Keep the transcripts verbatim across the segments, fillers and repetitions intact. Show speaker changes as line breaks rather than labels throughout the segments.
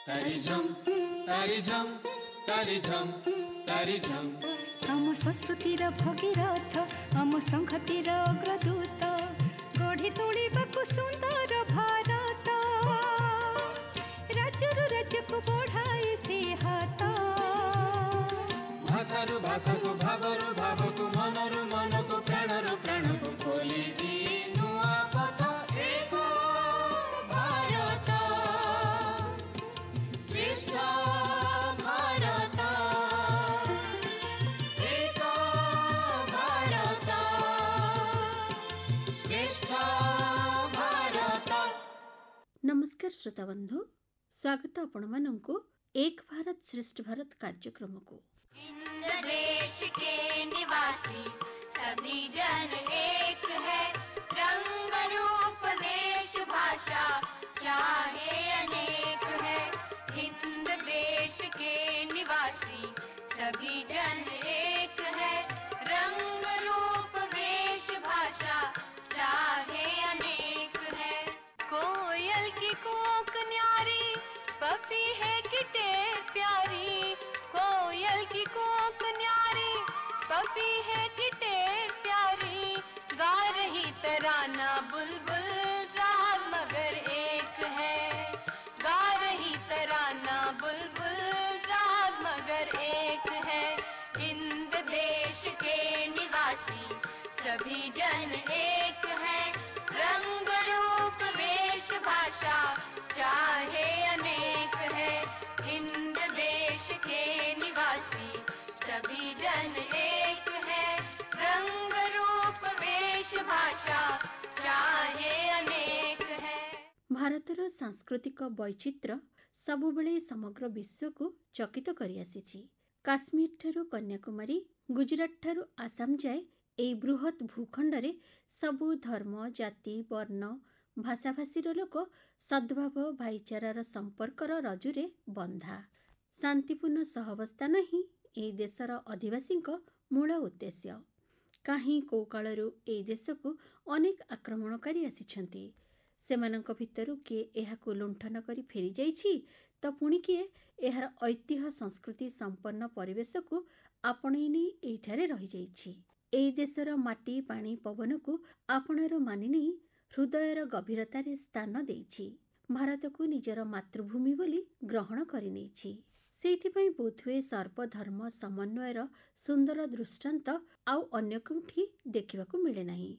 ତାରି ଝମ୍ ତାରି ଝମ୍ ତାରି ଝମ୍ ତାରି ଝମ୍।
ଆମ ସଂସ୍କୃତିର ଭଗୀରଥ, ଆମ ସଂହତିର ଅଗ୍ରଦୂତ, ଗଢ଼ି ତୋଳିବାକୁ ସୁନ୍ଦର ଭାରତ, ରାଜ୍ୟରୁ ରାଜ୍ୟକୁ ବଢ଼ାଏ ସେ ହାତ।
ଭାଷାରୁ ଭାଷାକୁ, ଭାବରୁ ଭାବକୁ, ମନରୁ ମନକୁ, ପ୍ରାଣରୁ ପ୍ରାଣକୁ ଖୋଲି ଦିଏ ନୂଆ ପଥ। ଏକ ଭାରତ ଶ୍ରେଷ୍ଠ ଭାରତ, ଏକ ଭାରତ ଶ୍ରେଷ୍ଠ ଭାରତ।
ନମସ୍କାର ଶ୍ରୋତାବନ୍ଧୁ, ସ୍ୱାଗତ ଆପଣମାନଙ୍କୁ ଏକ ଭାରତ ଶ୍ରେଷ୍ଠ ଭାରତ କାର୍ଯ୍ୟକ୍ରମକୁ।
हिंद देश के निवासी सभी जन एक है, रंग रूप वेश भाषा चाहे अनेक है। हिंद देश के निवासी सभी जन एक है, रंग रूप वेश भाषा चाहे अनेक है। कोयल की कूक न्यारी, पपी है किटे प्यारी। कोयल की कूक न्यारी, पपी है किटे प्यारी। गा रही तराना बुलबुल, राग मगर एक है। गा रही तराना बुलबुल, राग मगर एक है। हिंद देश के निवासी सभी जन एक है, रंग रूप वेश भाषा चाहे अनेक है। हिंद देश के निवासी सभी जन एक है, रंग रूप वेश भाषा चाहे अनेक है।
ଭାରତର ସାଂସ୍କୃତିକ ବୈଚିତ୍ର୍ୟ ସବୁବେଳେ ସମଗ୍ର ବିଶ୍ୱକୁ ଚକିତ କରିଆସିଛି। କାଶ୍ମୀରଠାରୁ କନ୍ୟାକୁମାରୀ, ଗୁଜରାଟଠାରୁ ଆସାମ ଯାଏ ଏହି ବୃହତ୍ ଭୂଖଣ୍ଡରେ ସବୁ ଧର୍ମ, ଜାତି, ବର୍ଣ୍ଣ, ଭାଷାଭାଷୀର ଲୋକ ସଦ୍ଭାବ, ଭାଇଚାରାର ସମ୍ପର୍କର ରଜୁରେ ବନ୍ଧା। ଶାନ୍ତିପୂର୍ଣ୍ଣ ସହାବସ୍ଥାନ ହିଁ ଏହି ଦେଶର ଅଧିବାସୀଙ୍କ ମୂଳ ଉଦ୍ଦେଶ୍ୟ। କାହିଁ କେଉଁ କାଳରୁ ଏହି ଦେଶକୁ ଅନେକ ଆକ୍ରମଣକାରୀ ଆସିଛନ୍ତି। ସେମାନଙ୍କ ଭିତରୁ କିଏ ଏହାକୁ ଲୁଣ୍ଠନ କରି ଫେରିଯାଇଛି ତ ପୁଣି କିଏ ଏହାର ଐତିହ୍ୟ ସଂସ୍କୃତି ସମ୍ପନ୍ନ ପରିବେଶକୁ ଆପଣେଇ ନେଇ ଏଇଠାରେ ରହିଯାଇଛି। ଏହି ଦେଶର ମାଟି, ପାଣି, ପବନକୁ ଆପଣାର ମାନି ନେଇ ହୃଦୟର ଗଭୀରତାରେ ସ୍ଥାନ ଦେଇଛି। ଭାରତକୁ ନିଜର ମାତୃଭୂମି ବୋଲି ଗ୍ରହଣ କରିନେଇଛି। ସେଇଥିପାଇଁ ବୋଧହୁଏ ସର୍ବଧର୍ମ ସମନ୍ୱୟର ସୁନ୍ଦର ଦୃଷ୍ଟାନ୍ତ ଆଉ ଅନ୍ୟ କେଉଁଠି ଦେଖିବାକୁ ମିଳେ ନାହିଁ।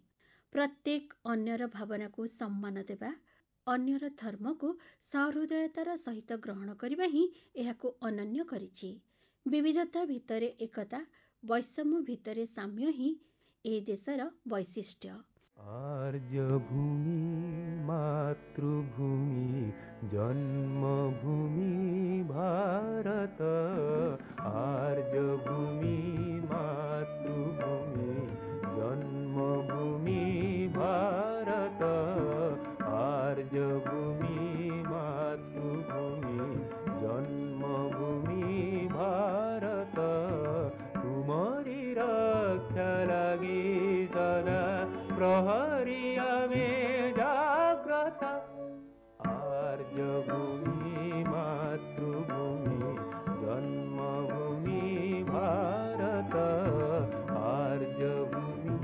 ପ୍ରତ୍ୟେକ ଅନ୍ୟର ଭାବନାକୁ ସମ୍ମାନ ଦେବା, ଅନ୍ୟର ଧର୍ମକୁ ସହୃଦୟତାର ସହିତ ଗ୍ରହଣ କରିବା ହିଁ ଏହାକୁ ଅନନ୍ୟ କରିଛି। ବିବିଧତା ଭିତରେ ଏକତା, ବୈଷମ୍ୟ ଭିତରେ ସାମ୍ୟ ହିଁ ଏ ଦେଶର ବୈଶିଷ୍ଟ୍ୟ।
ଆର୍ଯ୍ୟଭୂମି ମାତୃଭୂମି ଜନ୍ମଭୂମି ଭାରତ, ଆର୍ଯ୍ୟଭୂମି ମାତୃଭୂମି ଜନ୍ମଭୂମି ଭାରତ, ଆର୍ଯ୍ୟଭୂମି ମାତୃଭୂମି ଜନ୍ମଭୂମି ଭାରତ। ତୁମରି ରକ୍ଷା ଲାଗି ସଦା ପ୍ରହରୀ ଆମେ ଜାଗ୍ରତ। ଆର୍ଯ୍ୟଭୂମି ମାତୃଭୂମି ଜନ୍ମଭୂମି ଭାରତ, ଆର୍ଯ୍ୟଭୂମି।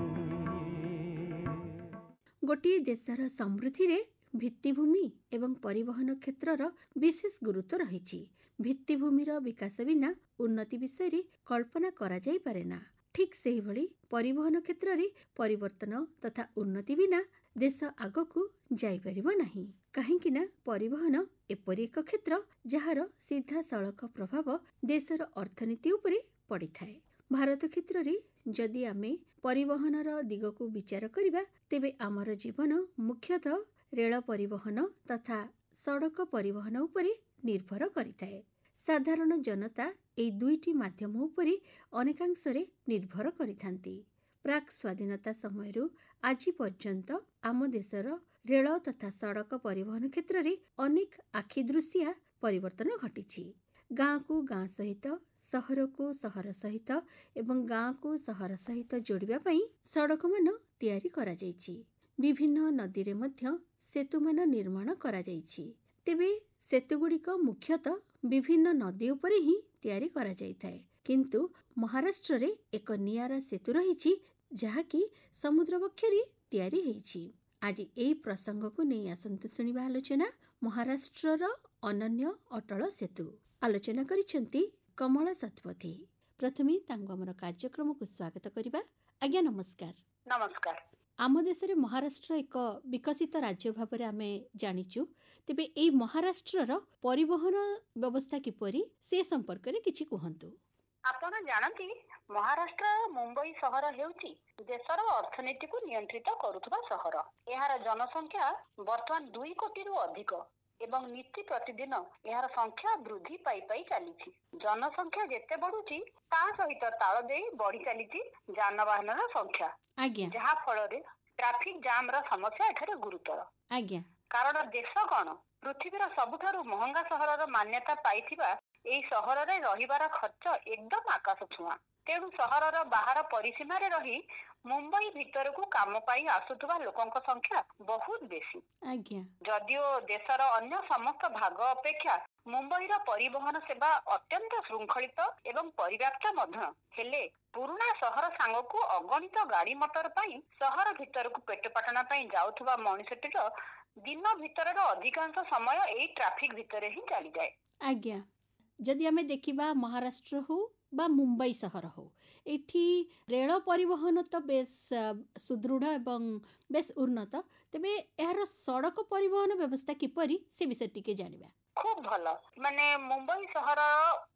ଗୋଟିଏ ଦେଶର ସମୃଦ୍ଧିରେ ଭିତ୍ତିଭୂମି ଏବଂ ପରିବହନ କ୍ଷେତ୍ରର ବିଶେଷ ଗୁରୁତ୍ୱ ରହିଛି। ଭିତ୍ତିଭୂମିର ବିକାଶ ବିନା ଉନ୍ନତି ବିଷୟରେ କଳ୍ପନା କରାଯାଇପାରେ ନା। ଠିକ୍ ସେହିଭଳି ପରିବହନ କ୍ଷେତ୍ରରେ ପରିବର୍ତ୍ତନ ତଥା ଉନ୍ନତି ବିନା ଦେଶ ଆଗକୁ ଯାଇପାରିବ ନାହିଁ। କାହିଁକି ନା ପରିବହନ ଏପରି ଏକ କ୍ଷେତ୍ର ଯାହାର ସିଧାସଳଖ ପ୍ରଭାବ ଦେଶର ଅର୍ଥନୀତି ଉପରେ ପଡ଼ିଥାଏ। ଭାରତ କ୍ଷେତ୍ରରେ ଯଦି ଆମେ ପରିବହନର ଦିଗକୁ ବିଚାର କରିବା, ତେବେ ଆମର ଜୀବନ ମୁଖ୍ୟତଃ ରେଳ ପରିବହନ ତଥା ସଡ଼କ ପରିବହନ ଉପରେ ନିର୍ଭର କରିଥାଏ। ସାଧାରଣ ଜନତା ଏହି ଦୁଇଟି ମାଧ୍ୟମ ଉପରେ ଅନେକାଂଶରେ ନିର୍ଭର କରିଥାନ୍ତି। ପ୍ରାକ୍ ସ୍ୱାଧୀନତା ସମୟରୁ ଆଜି ପର୍ଯ୍ୟନ୍ତ ଆମ ଦେଶର ରେଳ ତଥା ସଡ଼କ ପରିବହନ କ୍ଷେତ୍ରରେ ଅନେକ ଆଖିଦୃଶିଆ ପରିବର୍ତ୍ତନ ଘଟିଛି। ଗାଁକୁ ଗାଁ ସହିତ, ସହରକୁ ସହର ସହିତ ଏବଂ ଗାଁକୁ ସହର ସହିତ ଯୋଡ଼ିବା ପାଇଁ ସଡ଼କମାନ ତିଆରି କରାଯାଇଛି। ବିଭିନ୍ନ ନଦୀରେ ମଧ୍ୟ ସେତୁମାନ ନିର୍ମାଣ କରାଯାଇଛି। ତେବେ ସେତୁଗୁଡ଼ିକ ମୁଖ୍ୟତଃ ବିଭିନ୍ନ ନଦୀ ଉପରେ ହିଁ ତିଆରି କରାଯାଇଥାଏ, କିନ୍ତୁ ମହାରାଷ୍ଟ୍ରରେ ଏକ ନିଆରା ସେତୁ ରହିଛି ଯାହାକି ସମୁଦ୍ର ବକ୍ଷରେ ତିଆରି ହେଇଛି। ଆଜି ଏହି ପ୍ରସଙ୍ଗକୁ ନେଇ ଆସନ୍ତୁ ଶୁଣିବା ଆଲୋଚନା, ମହାରାଷ୍ଟ୍ରର ଅନନ୍ୟ ଅଟଳ ସେତୁ। ଆଲୋଚନା କରିଛନ୍ତି କମଳା ଶତପଥୀ। ପ୍ରଥମେ ତାଙ୍କୁ ଆମର କାର୍ଯ୍ୟକ୍ରମକୁ ସ୍ୱାଗତ କରିବା। ଆଜ୍ଞା ନମସ୍କାର।
ନମସ୍କାର।
ଆମ ଦେଶରେ ମହାରାଷ୍ଟ୍ର ଏକ ବିକଶିତ ରାଜ୍ୟ ଭାବରେ ଆମେ ଜାଣିଛୁ। ତେବେ ଏଇ ମହାରାଷ୍ଟ୍ରର ପରିବହନ ବ୍ୟବସ୍ଥା କିପରି ସେ ସମ୍ପର୍କରେ କିଛି କୁହନ୍ତୁ।
ଆପଣ ଜାଣନ୍ତି, ମହାରାଷ୍ଟ୍ରର ମୁମ୍ବାଇ ସହର ହେଉଛି ଦେଶର ଅର୍ଥନୀତିକୁ ନିୟନ୍ତ୍ରିତ କରୁଥିବା ସହର। ଏହାର ଜନସଂଖ୍ୟା ବର୍ତ୍ତମାନ ଦୁଇ କୋଟିରୁ ଅଧିକ ଏବଂ ନୀତି ପ୍ରତିଦିନ ଏହାର ସଂଖ୍ୟା ବୃଦ୍ଧି ପାଇ ପାଇ ଚାଲିଛି। ଜନସଂଖ୍ୟା ଯେତେ ବଢୁଛି, ତା ସହିତ ତାଳ ଦେଇ ବଢି ଚାଲିଛି ଯାନବାହନର ସଂଖ୍ୟା,
ଆଜ୍ଞା
ଯାହା ଫଳରେ ଟ୍ରାଫିକ ଜାମର ସମସ୍ୟା ଏଠାରେ ଗୁରୁତର।
ଆଜ୍ଞା
କାରଣ ଦେଶ କଣ, ପୃଥିବୀର ସବୁଠାରୁ ମହଙ୍ଗା ସହରର ମାନ୍ୟତା ପାଇଥିବା ଏହି ସହରରେ ରହିବାର ଖର୍ଚ୍ଚ ଏକଦମ ଆକାଶ ଛୁଆଁ। ତେଣୁ ସହରର ବାହାର ପରିସୀମାରେ ରହି ମୁମ୍ବାଇ ଭିତରକୁ କାମ ପାଇଁ ଆସୁଥିବା ଲୋକଙ୍କ ସଂଖ୍ୟା ବହୁତ ବେଶୀ।
ଆଜ୍ଞା
ଯଦିଓ ଦେଶର ଅନ୍ୟ ସମସ୍ତ ଭାଗ ଅପେକ୍ଷା ମୁମ୍ବାଇର ପରିବହନ ସେବା ଅତ୍ୟନ୍ତ ଶୃଙ୍ଖଳିତ ଏବଂ ପରିବ୍ୟାପ୍ତ ମଧ୍ୟ, ହେଲେ ପୁରୁଣା ସହର ସାଙ୍ଗକୁ ଅଗଣିତ ଗାଡି ମଟର ପାଇଁ ସହର ଭିତରକୁ ପେଟପାଟଣା ପାଇଁ ଯାଉଥିବା ମଣିଷଟିର ଦିନ ଭିତରର ଅଧିକାଂଶ ସମୟ ଏଇ ଟ୍ରାଫିକ ଭିତରେ ହିଁ ଚାଲିଯାଏ।
ଆଜ୍ଞା, ଯଦି ଆମେ ଦେଖିବା ମହାରାଷ୍ଟ୍ର ହଉ ବା ମୁମ୍ବାଇ ସହର ହଉ, ଏଠି ରେଳ ପରିବହନ ତ ବେଶ ଅ, ସୁଦୃଢ଼ ଏବଂ ବେଶ ଉନ୍ନତ। ତେବେ ଏହାର ସଡ଼କ ପରିବହନ ବ୍ୟବସ୍ଥା କିପରି ସେ ବିଷୟରେ ଟିକେ ଜାଣିବା।
ଖୁବ ଭଲ। ମାନେ ମୁମ୍ବାଇ ସହରର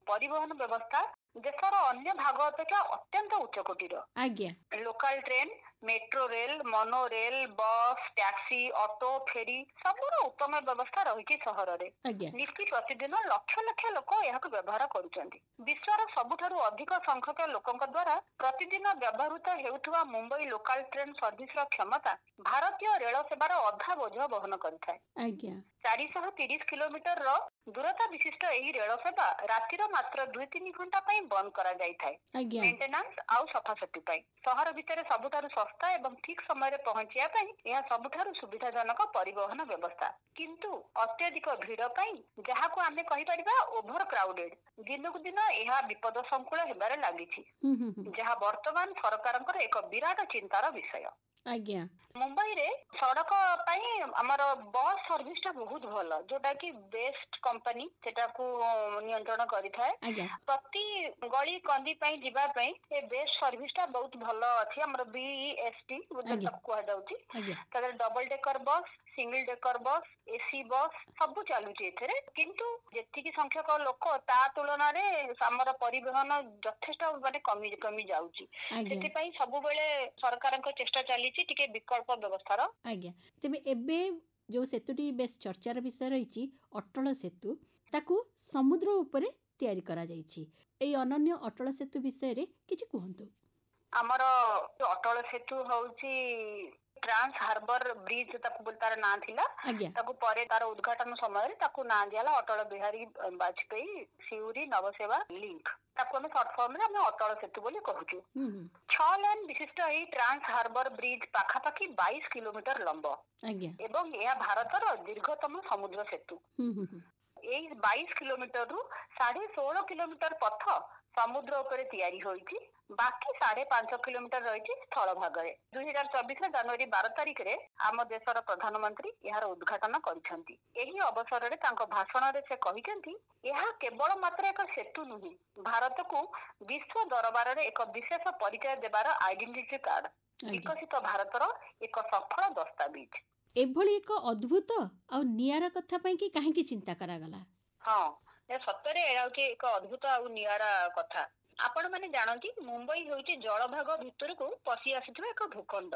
ପରିବହନ ବ୍ୟବସ୍ଥା ଦେଶର ଅନ୍ୟ ଭାଗ ଅପେକ୍ଷା ଅତ୍ୟନ୍ତ ଉଚ୍ଚକୋଟୀର।
ଆଜ୍ଞା
local train, metro rail, mono rail, bus, taxi, auto, ferry ସବୁର ଉତ୍ତମ ବ୍ୟବସ୍ଥା ରହିଛି ସହରରେ।
ଆଜ୍ଞା
ନୀତି ପ୍ରତିଦିନ ଲକ୍ଷ ଲକ୍ଷ ଲୋକ ଏହାକୁ ବ୍ୟବହାର କରୁଛନ୍ତି। ବିଶ୍ୱର ସବୁଠାରୁ ଅଧିକ ସଂଖ୍ୟକ ଲୋକଙ୍କ ଦ୍ୱାରା ପ୍ରତିଦିନ ବ୍ୟବହୃତ ହେଉଥିବା ମୁମ୍ବାଇ ଲୋକାଲ ଟ୍ରେନ ସର୍ଭିସର କ୍ଷମତା ଭାରତୀୟ ରେଳ ସେବାର ଅଧା ବୋଝ ବହନ କରିଥାଏ।
ଆଜ୍ଞା
ଚାରିଶହ ତିରିଶ କିଲୋମିଟରର ଦୂରତା ବିଶିଷ୍ଟ ଏହି ରେଳ ସେବା ରାତିର ମାତ୍ର ଦୁଇ ତିନି ଘଣ୍ଟା ପାଇଁ ବନ୍ଦ କରାଯାଇଥାଏ,
ଆଜ୍ଞା
ମେଣ୍ଟେନାନ୍ସ ଆଉ ସଫାସଫି ପାଇଁ। ସହର ଭିତରେ ସବୁଠାରୁ ଶସ୍ତା ଏବଂ ଠିକ ସମୟରେ ପହଞ୍ଚିବା ପାଇଁ ଏହା ସବୁଠାରୁ ସୁବିଧାଜନକ ପରିବହନ ବ୍ୟବସ୍ଥା। କିନ୍ତୁ ଅତ୍ୟଧିକ ଭିଡ ପାଇଁ, ଯାହାକୁ ଆମେ କହିପାରିବା ଓଭର କ୍ରାଉଡେଡ, ଦିନକୁ ଦିନ ଏହା ବିପଦ ସଂକୁଳ ହେବାରେ ଲାଗିଛି,
ହୁଁ ହୁଁ ହୁଁ
ଯାହା ବର୍ତ୍ତମାନ ସରକାରଙ୍କର ଏକ ବିରାଟ ଚିନ୍ତାର ବିଷୟ।
ଆଜ୍ଞା
ମୁମ୍ବାଇରେ ସଡକ ପାଇଁ ଆମର ବସ୍ ସର୍ଭିସ ଟା ବହୁତ ଭଲ, ଯୋଉଟା କି ବେଷ୍ଟ କମ୍ପାନୀ ସେଟାକୁ ନିୟନ୍ତ୍ରଣ କରିଥାଏ।
ଆଜ୍ଞା
ପ୍ରତି ଗଳି କନ୍ଦି ପାଇଁ ଯିବା ପାଇଁ ଏ ବେଷ୍ଟ ସର୍ଭିସ ଟା ବହୁତ ଭଲ ଅଛି। ଆମର ବିଇଏସଟି
ଆଜ୍ଞା।
ତାକୁ କୁହାଯାଉଛି।
ଆଜ୍ଞା
ତା ଦେହରେ double decker bus, single decker bus, AC bus ସବୁ ଚାଲୁଛି ଏଥିରେ। କିନ୍ତୁ ଯେତିକି ସଂଖ୍ୟକ ଲୋକ ତା ତୁଳନାରେ ଆମର ପରିବହନ ଯଥେଷ୍ଟ ମାନେ କମି କମି ଯାଉଛି।
ଆଜ୍ଞା
ସେଥିପାଇଁ ସବୁବେଳେ ସରକାରଙ୍କ ଚେଷ୍ଟା ଚାଲିଛି ଟିକେ ବିକଳ୍ପ ବ୍ୟବସ୍ଥାର।
ଆଜ୍ଞା, ତେବେ ଏବେ ଯେଉଁ ସେତୁଟି ବେଶ ଚର୍ଚ୍ଚାର ବିଷୟ ରହିଛି, ଅଟଳ ସେତୁ, ତାକୁ ସମୁଦ୍ର ଉପରେ ତିଆରି କରାଯାଇଛି। ଏଇ ଅନନ୍ୟ ଅଟଳ ସେତୁ ବିଷୟରେ କିଛି କୁହନ୍ତୁ।
ଆମର ଅଟଳ ସେତୁ ହଉଛି ଟ୍ରାନ୍ସ ହାର୍ବର ବ୍ରିଜ ତାକୁ ବୋଲି ତାର ନାଁ ଥିଲା।
ଆଜ୍ଞା
ତାକୁ ପରେ ତାର ଉଦ୍ଘାଟନ ସମୟରେ ତାକୁ ନାଁ ଦିଆହେଲା ଅଟଳ ବିହାରୀ ବାଜପେୟୀ ସିଉରି ନବସେବା ଲିଙ୍କ। ତାକୁ ଆମେ ସର୍ଟ ଫର୍ମରେ ଆମେ ଅଟଳ ସେତୁ ବୋଲି କହୁଛୁ।
ହୁଁ ହୁଁ
ଛଅ ଲେନ୍ ବିଶିଷ୍ଟ ଏହି ଟ୍ରାନ୍ସ ହାର୍ବର ବ୍ରିଜ ପାଖାପାଖି ବାଇଶ କିଲୋମିଟର ଲମ୍ବ
ଆଜ୍ଞା
ଏବଂ ଏହା ଭାରତର ଦୀର୍ଘତମ ସମୁଦ୍ର ସେତୁ।
ହୁଁ ହୁଁ ହୁଁ
ଏଇ ବାଇଶ କିଲୋମିଟରରୁ ସାଢେ ଷୋହଳ କିଲୋମିଟର ପଥ ସମୁଦ୍ର ଉପରେ ତିଆରି ହୋଇଛି, ବାକି ସାଢେ ପାଞ୍ଚ କିଲୋମିଟର ରହିଛି ସ୍ଥଳ ଭାଗରେ। ଦୁଇ ହଜାର ଚବିଶ ଜାନୁଆରୀ ବାର ତାରିଖରେ ଆମ ଦେଶର ପ୍ରଧାନମନ୍ତ୍ରୀ ଏହାର ଉଦ୍ଘାଟନ କରିଛନ୍ତି। ଏହି ଅବସରରେ ତାଙ୍କ ଭାଷଣରେ ସେ କହିଛନ୍ତି, ଏହା କେବଳ ମାତ୍ର ଏକ ସେତୁ ନୁହେଁ, ଭାରତକୁ ବିଶ୍ୱ ଦରବାରରେ ଏକ ବିଶେଷ ପରିଚୟ ଦେବାର ଆଇଡେଣ୍ଟିଟି କାର୍ଡ,
ଆଜ୍ଞା
ବିକଶିତ ଭାରତର ଏକ ସଫଳ ଦସ୍ତାବିଜ।
ଏଭଳି ଏକ ଅଦ୍ଭୁତ ଆଉ ନିଆରା କଥା ପାଇଁ କି କାହିଁକି ଚିନ୍ତା କରାଗଲା?
ହଁ, ଏ ସତରେ ଏହା ହଉଛି ଏକ ଅଦ୍ଭୁତ ଆଉ ନିଆରା କଥା। ଆପଣ ମାନେ ଜାଣନ୍ତି, ମୁମ୍ବାଇ ହେଉଛି ଜଳଭାଗ ଭିତରକୁ ପଶି ଆସିଥିବା ଏକ ଭୂଖଣ୍ଡ,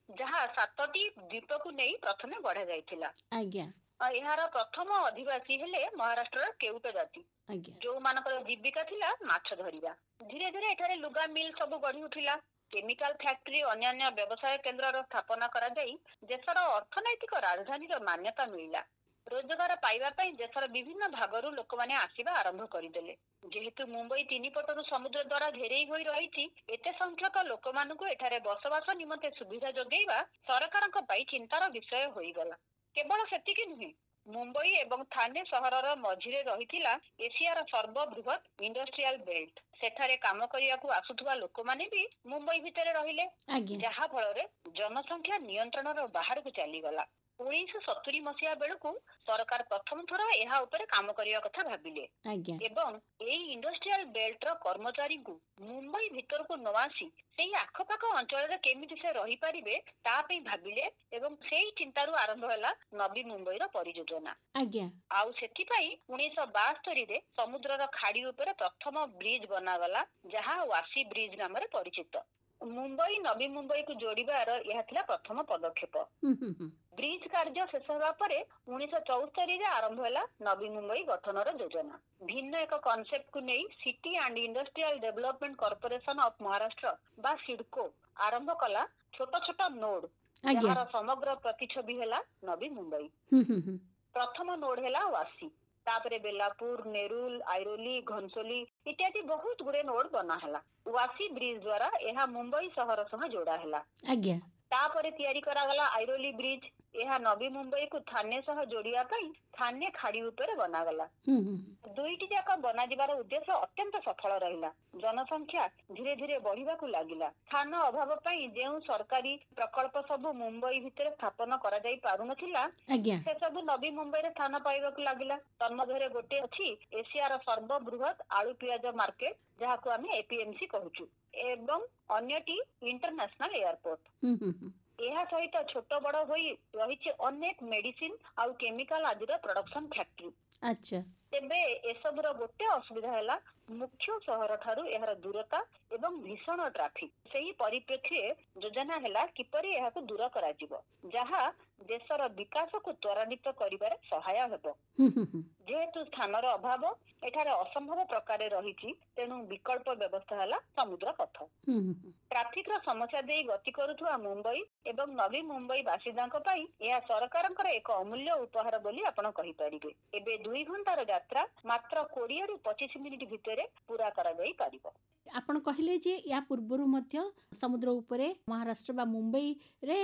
ଯାହା ସାତଟି ଦ୍ୱୀପକୁ ନେଇ ପ୍ରଥମେ ଗଢା ଯାଇଥିଲା।
ଆଜ୍ଞା
ଆଉ ଏହାର ପ୍ରଥମ ଅଧିବାସୀ ହେଲେ ମହାରାଷ୍ଟ୍ରର କେଉଟ ଜାତି,
ଆଜ୍ଞା
ଯୋଉମାନଙ୍କର ଜୀବିକା ଥିଲା ମାଛ ଧରିବା। ଧୀରେ ଧୀରେ ଏଠାରେ ଲୁଗା ମିଲ୍ ସବୁ ଗଢି ଉଠିଲା। କେମିକାଲ ଫ୍ୟାକ୍ଟ୍ରି, ଅନ୍ୟାନ୍ୟ ବ୍ୟବସାୟ କେନ୍ଦ୍ରର ସ୍ଥାପନା କରାଯାଇ ଦେଶର ଅର୍ଥନୈତିକ ରାଜଧାନୀର ମାନ୍ୟତା ମିଳିଲା। ରୋଜଗାର ପାଇବା ପାଇଁ ଦେଶର ବିଭିନ୍ନ ଭାଗରୁ ଲୋକମାନେ ଆସିବା ଆରମ୍ଭ କରିଦେଲେ। ଯେହେତୁ ମୁମ୍ବାଇ ତିନି ପଟରୁ ସମୁଦ୍ର ଦ୍ୱାରା ଘେରେଇ ହୋଇ ରହିଛି, ଏତେ ସଂଖ୍ୟକ ଲୋକମାନଙ୍କୁ ଏଠାରେ ବସବାସ ନିମନ୍ତେ ସୁବିଧା ଯୋଗାଇବା ସରକାରଙ୍କ ପାଇଁ ଚିନ୍ତାର ବିଷୟ ହୋଇଗଲା। କେବଳ ସେତିକି ନୁହେଁ, ମୁମ୍ବାଇ ଏବଂ ଥାନେ ସହରର ମଝିରେ ରହିଥିଲା ଏସିଆର ସର୍ବବୃହତ୍ ଇଣ୍ଡଷ୍ଟ୍ରିଆଲ ବେଲ୍ଟ। ସେଠାରେ କାମ କରିବାକୁ ଆସୁଥିବା ଲୋକମାନେ ବି ମୁମ୍ବାଇ ଭିତରେ ରହିଲେ,
ଆଜ୍ଞା
ଯାହା ଫଳରେ ଜନସଂଖ୍ୟା ନିୟନ୍ତ୍ରଣର ବାହାରକୁ ଚାଲିଗଲା। ଉଣେଇଶହ ସତୁରି ମସିହା ବେଳକୁ ସରକାର ପ୍ରଥମ ଥର ଏହା ଉପରେ କାମ କରିବା କଥା ଭାବିଲେ
ଆଜ୍ଞା
ଏବଂ ଏଇ ଇଣ୍ଡଷ୍ଟ୍ରିଆଲ ବେଲ୍ଟର କର୍ମଚାରୀଙ୍କୁ ମୁମ୍ବାଇ ଭିତରକୁ ନ ଆସି ସେଇ ଆଖପାଖ ଅଞ୍ଚଳରେ କେମିତି ସେ ରହିପାରିବେ ତା ପାଇଁ ଭାବିଲେ ଏବଂ ସେଇ ଚିନ୍ତାରୁ ଆରମ୍ଭ ହେଲା ନବୀ ମୁମ୍ବାଇର ପରିଯୋଜନା।
ଆଜ୍ଞା
ଆଉ ସେଥିପାଇଁ ଉଣେଇଶହ ବାସ୍ତରୀରେ ସମୁଦ୍ରର ଖାଡି ଉପରେ ପ୍ରଥମ ବ୍ରିଜ ବନାଗଲା, ଯାହା ୱାସି ବ୍ରିଜ ନାମରେ ପରିଚିତ। ମୁମ୍ବାଇ ନବୀ ମୁମ୍ବାଇକୁ ଯୋଡିବାର ଏହା ଥିଲା ପ୍ରଥମ ପଦକ୍ଷେପ।
ହୁଁ ହୁଁ ହୁଁ
ବ୍ରିଜ କାର୍ଯ୍ୟ ଶେଷ ହେବା ପରେ ଉଣେଇଶହ ଚଉସ୍ତରୀରେ ଆରମ୍ଭ ହେଲା ନବୀ ମୁମ୍ବାଇ ଗଠନର ଯୋଜନା। ଭିନ୍ନ ଏକ କନସେପ୍ଟକୁ ନେଇ City and Industrial Development Corporation of Maharashtra ବା ସିଡକୋ ଆରମ୍ଭ କଲା ଛୋଟ ଛୋଟ ନୋଡ,
ଆଜ୍ଞା
ଯାହାର ସମଗ୍ର ପ୍ରତିଛବି ହେଲା ନବୀ ମୁମ୍ବାଇ।
ହୁଁ ହୁଁ ହୁଁ
ପ୍ରଥମ ନୋଡ ହେଲା ୱାସି, ତାପରେ ବେଲାପୁର, ନେରୁଲ, ଆଇରୋଲି, ଘନସୋଲି ଇତ୍ୟାଦି ବହୁତ ଗୁଡେ ନୋଡ ବନା ହେଲା। ୱାସି ବ୍ରିଜ ଦ୍ଵାରା ଏହା ମୁମ୍ବାଇ ସହର ସହ ଯୋଡା ହେଲା।
ଆଜ୍ଞା
ତାପରେ ତିଆରି କରାଗଲା ଆଇରୋଲି ବ୍ରିଜ। ଏହା ନବୀ ମୁମ୍ବାଇକୁ ଥାନେ ସହ ଯୋଡିବା ପାଇଁ ଥାନେ ଖାଡି ଉପରେ ବନାଗଲା।
ହୁଁ ହୁଁ
ଦୁଇଟି ଯାକ ବନାଯିବାର ଉଦ୍ଦେଶ୍ୟ ଅତ୍ୟନ୍ତ ସଫଳ ରହିଲା। ଜନସଂଖ୍ୟା ଧୀରେ ଧୀରେ ବଢିବାକୁ ଲାଗିଲା। ସ୍ଥାନ ଅଭାବ ପାଇଁ ଯେଉଁ ସରକାରୀ ପ୍ରକଳ୍ପ ସବୁ ମୁମ୍ବାଇ ଭିତରେ ସ୍ଥାପନ କରାଯାଇ ପାରୁନଥିଲା,
ଆଜ୍ଞା
ସେସବୁ ନବୀ ମୁମ୍ବାଇରେ ସ୍ଥାନ ପାଇବାକୁ ଲାଗିଲା। ତନ୍ମଧ୍ୟରେ ଗୋଟେ ଅଛି ଏସିଆର ସର୍ବବୃହତ୍ ଆଳୁ ପିଆଜ ମାର୍କେଟ, ଯାହାକୁ ଆମେ ଏପିଏମସି କହୁଛୁ, ଏବଂ ଅନ୍ୟଟି ଇଣ୍ଟରନ୍ୟାସନାଲ ଏୟାରପୋର୍ଟ।
ହୁଁ ହୁଁ ହୁଁ
ଏହା ସହିତ ଛୋଟ ବଡ ହୋଇ ରହିଛି ଅନେକ ମେଡିସିନ ଆଉ କେମିକାଲ ଆଦିର ପ୍ରଡକ୍ସନ ଫ୍ୟାକ୍ଟ୍ରି।
ଆଚ୍ଛା
ତେବେ ଏସବୁର ଗୋଟେ ଅସୁବିଧା ହେଲା ମୁଖ୍ୟ ସହର ଠାରୁ ଏହାର ଦୂରତା ଏବଂ ଭୀଷଣ ଟ୍ରାଫିକ। ସେହି ପରିପ୍ରେକ୍ଷୀରେ ଯୋଜନା ହେଲା କିପରି ଏହାକୁ ଦୂର କରାଯିବ, ଯାହା ଦେଶର ବିକାଶକୁ ତ୍ୱରାନ୍ୱିତ କରିବାରେ ସହାୟ ହେବ।
ହୁଁ ହୁଁ ହୁଁ
ଯେହେତୁ ସ୍ଥାନର ଅଭାବ ଏଠାରେ ଅସମ୍ଭବ ପ୍ରକାରେ ରହିଛି, ତେଣୁ ବିକଳ୍ପ ବ୍ୟବସ୍ଥା ହେଲା ସମୁଦ୍ର ପଥ।
ହୁଁ ହୁଁ ହୁଁ
ଟ୍ରାଫିକର ସମସ୍ୟା ଦେଇ ଗତି କରୁଥିବା ମୁମ୍ବାଇ ଏବଂ ନବୀ ମୁମ୍ବାଇ ବାସିନ୍ଦାଙ୍କ ପାଇଁ ଏହା ସରକାରଙ୍କର ଏକ ଅମୂଲ୍ୟ ଉପହାର ବୋଲି ଆପଣ କହିପାରିବେ। ଏବେ ଦୁଇ ଘଣ୍ଟାର ଯାତ୍ରା ମାତ୍ର କୋଡିଏରୁ ପଚିଶ ମିନିଟ ଭିତରେ ପୁରା କରାଯାଇ ପାରିବ।
ଆପଣ କହିଲେ ଯେ ୟା ପୂର୍ବରୁ ମଧ୍ୟ ସମୁଦ୍ର ଉପରେ ମହାରାଷ୍ଟ୍ର ବା ମୁମ୍ବାଇରେ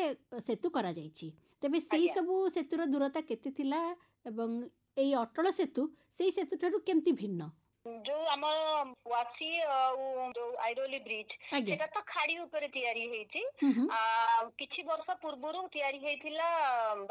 ସେତୁ କରାଯାଇଛି। ତେବେ ସେଇ
ଆଜ୍ଞା।
ସବୁ ସେତୁର ଦୂରତା କେତେ ଥିଲା ଏବଂ ଏଇ ଅଟଳ ସେତୁ ସେଇ ସେତୁ ଠାରୁ କେମିତି ଭିନ୍ନ?
ଯୋଉ ଆମର ୱାସି ଆଉ ଯୋଉ ଆଇରୋଲି ବ୍ରିଜ,
ଆଜ୍ଞା
ସେଟା ତ ଖାଡି ଉପରେ ତିଆରି ହେଇଛି।
ହୁଁ ହୁଁ
ଆଉ କିଛି ବର୍ଷ ପୂର୍ବରୁ ତିଆରି ହେଇଥିଲା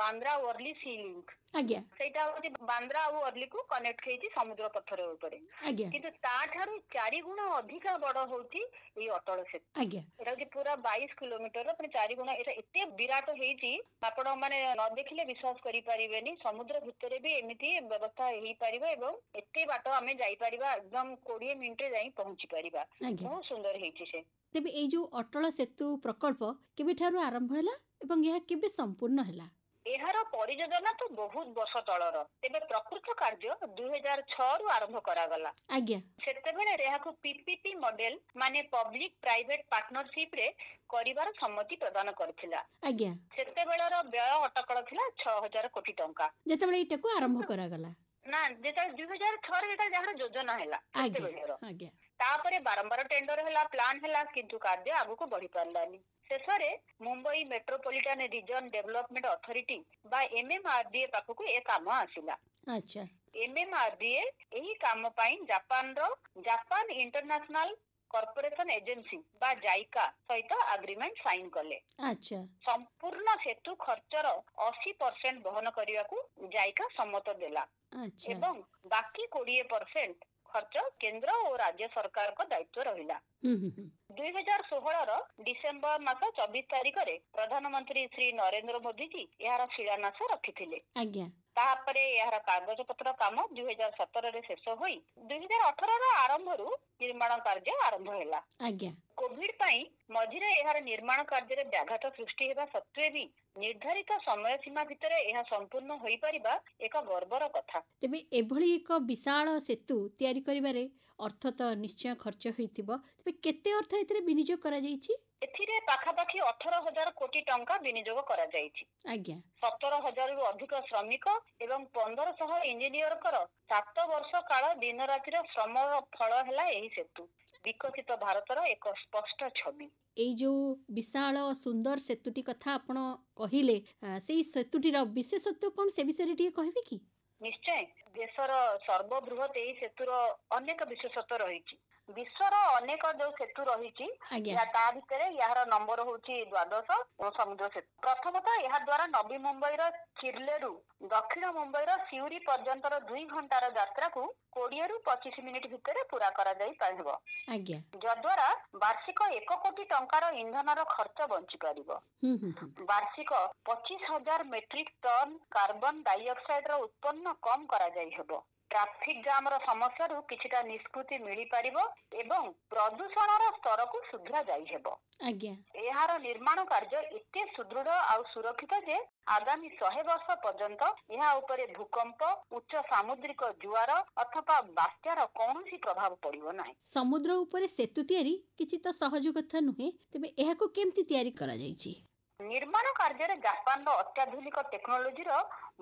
ବାନ୍ଦ୍ରା ୱର୍ଲି ସି ଲିଙ୍କ।
ଆଜ୍ଞା
ସେଇଟା ହଉଛି ବାନ୍ଦ୍ରା ଆଉ ୱର୍ଲିକୁ କନେକ୍ଟ ହେଇଛି ସମୁଦ୍ର ପଥର ଉପରେ।
ଆଜ୍ଞା
କିନ୍ତୁ ତାଠାରୁ ଚାରି ଗୁଣ ଅଧିକା ବଡ ହଉଛି ଏଇ ଅଟଳ ସେତୁ।
ଆଜ୍ଞା
ଏଟା ହଉଛି ପୁରା ବାଇଶ କିଲୋମିଟର, ମାନେ ଚାରି ଗୁଣ। ଏଟା ଏତେ ବିରାଟ ହେଇଛି ଆପଣ ମାନେ ନ ଦେଖିଲେ ବିଶ୍ୱାସ କରିପାରିବେନି। ସମୁଦ୍ର ଭିତରେ ବି ଏମିତି ବ୍ୟବସ୍ଥା ହେଇପାରିବ ଏବଂ ଏତେ ବାଟ ଆମେ ଯାଇପାରିବା, ଏକଦମ କୋଡିଏ ମିନିଟରେ ଯାଇ ପହଞ୍ଚି ପାରିବା।
ଆଜ୍ଞା
ବହୁତ ସୁନ୍ଦର ହେଇଛି ସେ।
ତେବେ ଏଇ ଯୋଉ ଅଟଳ ସେତୁ ପ୍ରକଳ୍ପ କେବେଠାରୁ ଆରମ୍ଭ ହେଲା ଏବଂ ଏହା କେବେ ସମ୍ପୂର୍ଣ୍ଣ ହେଲା?
ଏହାର ପରିଯୋଜନା ତ ବହୁତ ବର୍ଷ ତଳର, ତେବେ ପ୍ରକୃତ କାର୍ଯ୍ୟ ଦୁଇ ହଜାର ଛଅରୁ ଆରମ୍ଭ କରାଗଲା।
ଆଜ୍ଞା
ସେତେବେଳେ ଏହାକୁ ପିପିପି ମଡେଲ ମାନେ ପବ୍ଲିକ ପ୍ରାଇଭେଟ ପାର୍ଟନରସିପ ରେ କରିବାର ସମ୍ମତି ପ୍ରଦାନ କରିଥିଲା।
ଆଜ୍ଞା
ସେତେବେଳର ବ୍ୟୟ ଅଟକଳ ଥିଲା ଛଅ ହଜାର କୋଟି ଟଙ୍କା।
ଯେତେବେଳେ ଏଇଟାକୁ ଆରମ୍ଭ କରାଗଲା।
ନା, ଯେତେବେଳେ ଦୁଇ ହଜାର ଛଅରେ ଯେତେବେଳେ ଯାହାର ଯୋଜନା ହେଲା
ଆଜ୍ଞା
ସେତେବେଳର।
ଆଜ୍ଞା
ତାପରେ ବାରମ୍ବାର ଟେଣ୍ଡର ହେଲା, ପ୍ଲାନ ହେଲା, କିନ୍ତୁ କାର୍ଯ୍ୟ ଆଗକୁ ବଢି ପାରିଲାନି। ଶେଷରେ Mumbai Metropolitan Region Development Authority ବା ଏମଏମଆରଡିଏ ପାଖକୁ ଏ କାମ ଆସିଲା।
ଆଚ୍ଛା
ଏମଏମଆରଡିଏ ଏହି କାମ ପାଇଁ ଜାପାନର ଜାପାନ ଇଣ୍ଟରନ୍ୟାସନାଲ କର୍ପୋରେସନ ଏଜେନ୍ସି ବା ଜାଇକା ସହିତ ଆଗ୍ରିମେଣ୍ଟ ସାଇନ କଲେ।
ଆଚ୍ଛା
ସମ୍ପୂର୍ଣ୍ଣ ସେତୁ ଖର୍ଚ୍ଚର ଅଶୀ ପରସେଣ୍ଟ ବହନ କରିବାକୁ ଜାଇକା ସମ୍ମତ ଦେଲା
ଆଚ୍ଛା
ଏବଂ ବାକି କୋଡିଏ ପରସେଣ୍ଟ ଖର୍ଚ୍ଚ କେନ୍ଦ୍ର ଓ ରାଜ୍ୟ ସରକାରଙ୍କ ଦାୟିତ୍ୱ ରହିଲା।
ହୁଁ ହୁଁ ହୁଁ
ଦୁଇ ହଜାର ଷୋହଳର ଡିସେମ୍ବର ମାସ ଚବିଶ ତାରିଖରେ ପ୍ରଧାନମନ୍ତ୍ରୀ ଶ୍ରୀ ନରେନ୍ଦ୍ର ମୋଦିଜୀ ଏହାର ଶିଳାନ୍ୟାସ ରଖିଥିଲେ।
ଆଜ୍ଞା
ତାପରେ ଏହାର କାଗଜପତ୍ର କାମ ଦୁଇ ହଜାର ସତରରେ ଶେଷ ହୋଇ ଦୁଇ ହଜାର ଅଠରର ଆରମ୍ଭରୁ ନିର୍ମାଣ କାର୍ଯ୍ୟ ଆରମ୍ଭ ହେଲା।
ଆଜ୍ଞା
କୋଭିଡ ପାଇଁ ମଝିରେ ଏହାର ନିର୍ମାଣ କାର୍ଯ୍ୟରେ ବ୍ୟାଘାତ ସୃଷ୍ଟି ହେବା ସତ୍ତ୍ୱେ ବି ନିର୍ଦ୍ଧାରିତ ସମୟ ସୀମା ଭିତରେ ଏହା ସମ୍ପୂର୍ଣ୍ଣ ହୋଇପାରିବା ଏକ ଗର୍ବର କଥା।
ତେବେ ଏଭଳି ଏକ ବିଶାଳ ସେତୁ ତିଆରି କରିବାରେ ଅର୍ଥ ତ ନିଶ୍ଚୟ ଖର୍ଚ୍ଚ ହୋଇଥିବ। ତେବେ କେତେ ଅର୍ଥ ଏଥିରେ ବିନିଯୋଗ କରାଯାଇଛି?
ଏଥିରେ ପାଖାପାଖି ଅଠର ହଜାର କୋଟି ଟଙ୍କା ବିନିଯୋଗ କରାଯାଇଛି।
ଆଜ୍ଞା
ସତର ହଜାରରୁ ଅଧିକ ଶ୍ରମିକ ଏବଂ ପନ୍ଦରଶହ ଇଞ୍ଜିନିୟରଙ୍କର ସାତ ବର୍ଷ କାଳ ଦିନ ରାତିର ଶ୍ରମର ଫଳ ହେଲା ଏହି ସେତୁ, ବିକଶିତ ଭାରତର ଏକ ସ୍ପଷ୍ଟ ଛବି।
ଏଇ ଯୋଉ ବିଶାଳ ସୁନ୍ଦର ସେତୁଟି କଥା ଆପଣ କହିଲେ, ଆ, ସେଇ ସେତୁଟିର ବିଶେଷତ୍ୱ କଣ ସେ ବିଷୟରେ ଟିକେ କହିବେ କି?
ନିଶ୍ଚୟ। ଦେଶର ସର୍ବବୃହତ ଏହି ସେତୁର ଅନେକ ବିଶେଷତ୍ୱ ରହିଛି। ବିଶ୍ୱର ଅନେକ ଯୋଉ ସେତୁ ରହିଛି,
ଆଜ୍ଞା
ଏହା ତା ଭିତରେ ଏହାର ନମ୍ବର ହଉଛି ଦ୍ୱାଦଶ ସମୁଦ୍ର ସେତୁ। ପ୍ରଥମତଃ ଏହା ଦ୍ୱାରା ନବୀ ମୁମ୍ବାଇର ଚିର୍ଲେରୁ ଦକ୍ଷିଣ ମୁମ୍ବାଇର ସିଉରି ପର୍ଯ୍ୟନ୍ତର ଦୁଇ ଘଣ୍ଟାର ଯାତ୍ରାକୁ କୋଡିଏରୁ ପଚିଶ ମିନିଟ ଭିତରେ ପୁରା କରାଯାଇ ପାରିବ,
ଆଜ୍ଞା
ଯଦ୍ୱାରା ବାର୍ଷିକ ଏକ କୋଟି ଟଙ୍କାର ଇନ୍ଧନର ଖର୍ଚ୍ଚ ବଞ୍ଚି ପାରିବ।
ହୁଁ ହୁଁ ହୁଁ
ବାର୍ଷିକ ପଚିଶ ହଜାର ମେଟ୍ରିକ ଟନ୍ କାର୍ବନ ଡାଇଅକ୍ସାଇଡର ଉତ୍ପନ୍ନ କମ କରାଯାଇ ହେବ। ଟ୍ରାଫିକ ଜାମର ସମସ୍ୟାରୁ କିଛିଟା ନିଷ୍କୃତି ମିଳିପାରିବ ଏବଂ ପ୍ରଦୂଷଣର ସ୍ତରକୁ ସୁଧରା ଯାଇହେବ।
ଆଜ୍ଞା
ଏହାର ନିର୍ମାଣ କାର୍ଯ୍ୟ ଏତେ ସୁଦୃଢ ଆଉ ସୁରକ୍ଷିତ ଯେ ଆଗାମୀ ଶହେ ବର୍ଷ ପର୍ଯ୍ୟନ୍ତ ଏହା ଉପରେ ଭୂକମ୍ପ, ଉଚ୍ଚ ସାମୁଦ୍ରିକ ଜୁଆର ଅଥବା ବାତ୍ୟାର କୌଣସି ପ୍ରଭାବ ପଡିବ ନାହିଁ।
ସମୁଦ୍ର ଉପରେ ସେତୁ ତିଆରି କିଛି ତ ସହଜ କଥା ନୁହେଁ, ତେବେ ଏହାକୁ କେମିତି ତିଆରି କରାଯାଇଛି?
ନିର୍ମାଣ କାର୍ଯ୍ୟରେ ଜାପାନର ଅତ୍ୟାଧୁନିକ ଟେକ୍ନୋଲୋଜିର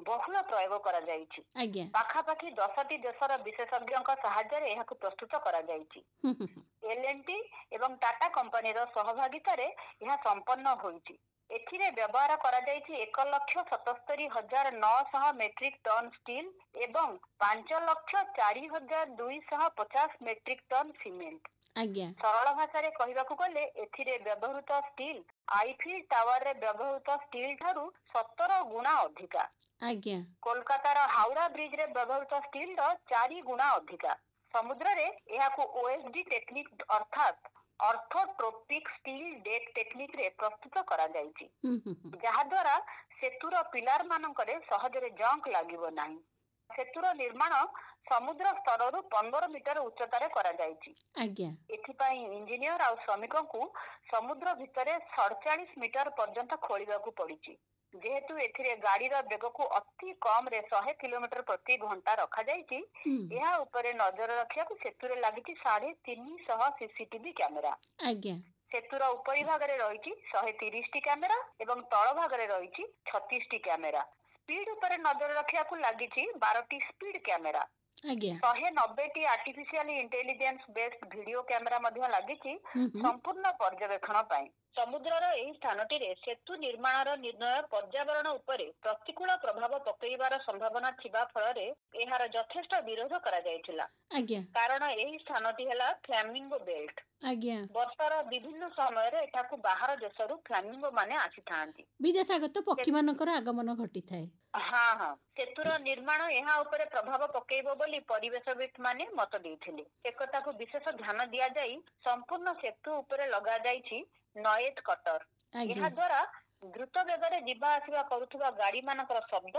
ବହୁଳ ପ୍ରୟୋଗ କରାଯାଇଛି।
ଆଜ୍ଞା
ପାଖାପାଖି ଦଶଟି ଦେଶର ବିଶେଷଜ୍ଞଙ୍କ ସାହାଯ୍ୟରେ ଏହାକୁ ପ୍ରସ୍ତୁତ କରାଯାଇଛି।
ହୁଁ ହୁଁ ହୁଁ
ଏଲ ଏନ୍ ଟି ଏବଂ ଟାଟା କମ୍ପାନୀର ସହଭାଗିତାରେ ଏହା ସମ୍ପନ୍ନ ହୋଇଛି। ଏଥିରେ ବ୍ୟବହାର କରାଯାଇଛି ଏକ ଲକ୍ଷ ସତସ୍ତରୀ ହଜାର ନଅଶହ ମେଟ୍ରିକ ଟନ୍ ଷ୍ଟିଲ୍ ଏବଂ ପାଞ୍ଚ ଲକ୍ଷ ଚାରି ହଜାର ଦୁଇଶହ ପଚାଶ ମେଟ୍ରିକ ଟନ୍ ସିମେଣ୍ଟ।
ଆଜ୍ଞା
ସରଳ ଭାଷାରେ କହିବାକୁ ଗଲେ ଏଥିରେ ବ୍ୟବହୃତ ଷ୍ଟିଲ୍ ଆଇଫିଲ୍ ଟାୱାରରେ ବ୍ୟବହୃତ ଷ୍ଟିଲ୍ ଠାରୁ ସତର ଗୁଣା ଅଧିକା।
ଆଜ୍ଞା
କୋଲକାତାର ହାଉଡା ବ୍ରିଜରେ ବ୍ୟବହୃତ ଷ୍ଟିଲର ଚାରି ଗୁଣା ଅଧିକା। ସମୁଦ୍ରରେ ଏହାକୁ ଓଏସଡି ଟେକ୍ନିକ ଅର୍ଥାତ୍ ଅର୍ଥୋଟ୍ରୋପିକ ଷ୍ଟିଲ୍ ଡେକ୍ ଟେକ୍ନିକରେ ପ୍ରସ୍ତୁତ କରାଯାଇଛି,
ହୁଁ ହୁଁ ହୁଁ
ଯାହାଦ୍ୱାରା ସେତୁର ପିଲାର ମାନଙ୍କରେ ସହଜରେ ଜଙ୍କ ଲାଗିବ ନାହିଁ। ସେତୁର ନିର୍ମାଣ ସମୁଦ୍ର ସ୍ତରରୁ ପନ୍ଦର ମିଟର ଉଚ୍ଚତାରେ କରାଯାଇଛି।
ଆଜ୍ଞା
ଏଥିପାଇଁ ଇଞ୍ଜିନିୟର ଆଉ ଶ୍ରମିକଙ୍କୁ ସମୁଦ୍ର ଭିତରେ ସଡ଼ଚାଳିଶ ମିଟର ପର୍ଯ୍ୟନ୍ତ ଖୋଳିବାକୁ ପଡିଛି। ଯେହେତୁ ଏଥିରେ ଗାଡିର ବେଗକୁ ଅତି କମରେ ଶହେ କିଲୋମିଟର ପ୍ରତି ଘଣ୍ଟା ରଖାଯାଇଛି,
ହୁଁ
ଏହା ଉପରେ ନଜର ରଖିବାକୁ ସେତୁରେ ଲାଗିଛି ସାଢେ ତିନିଶହ ସିସିଟିଭି କ୍ୟାମେରା।
ଆଜ୍ଞା
ସେତୁର ଉପରି ଭାଗରେ ରହିଛି ଶହେ ତିରିଶଟି କ୍ୟାମେରା ଏବଂ ତଳ ଭାଗରେ ରହିଛି ଛତିଶଟି କ୍ୟାମେରା। ସ୍ପିଡ ଉପରେ ନଜର ରଖିବାକୁ ଲାଗିଛି ବାରଟି ସ୍ପିଡ କ୍ୟାମେରା।
ଆଜ୍ଞା
ଶହେ ନବେଟି artificial intelligence based video camera ମଧ୍ୟ ଲାଗିଛି
ହୁଁ ହୁଁ
ସମ୍ପୂର୍ଣ୍ଣ ପର୍ଯ୍ୟବେକ୍ଷଣ ପାଇଁ। ସମୁଦ୍ରର ଏହି ସ୍ଥାନଟିରେ ସେତୁ ନିର୍ମାଣର ନିର୍ଣ୍ଣୟ ପର୍ଯ୍ୟାବରଣ ଉପରେ ପ୍ରତିକୂଳ ପ୍ରଭାବ ପକେଇବାର ସମ୍ଭାବନା ଥିବା ଫଳରେ ଏହାର ଯଥେଷ୍ଟ ବିରୋଧ କରାଯାଇଥିଲା।
ଆଜ୍ଞା
କାରଣ ଏହି ସ୍ଥାନଟି ହେଲା ଫ୍ଲାମିଙ୍ଗୋ ବେଲ୍ଟ।
ଆଜ୍ଞା
ବର୍ଷର ବିଭିନ୍ନ ସମୟରେ ଏଠାକୁ ବାହାର ଦେଶରୁ ଫ୍ଲାମିଙ୍ଗୋ ମାନେ ଆସିଥାନ୍ତି।
ବିଦେଶାଗତ ପକ୍ଷୀମାନଙ୍କର ଆଗମନ ଘଟିଥାଏ।
ହଁ ହଁ ସେତୁର ନିର୍ମାଣ ଏହା ଉପରେ ପ୍ରଭାବ ପକେଇବ ବୋଲି ପରିବେଶବିତ୍ ମାନେ ମତ ଦେଇଥିଲେ। ସେକଥାକୁ ବିଶେଷ ଧ୍ୟାନ ଦିଆଯାଇ ସମ୍ପୂର୍ଣ୍ଣ ସେତୁ ଉପରେ ଲଗାଯାଇଛି ନଏଜ କଟର।
ଆଜ୍ଞା
ଏହା ଦ୍ୱାରା ଦ୍ରୁତ ବେଗରେ ଯିବା ଆସିବା କରୁଥିବା ଗାଡି ମାନଙ୍କର ଶବ୍ଦ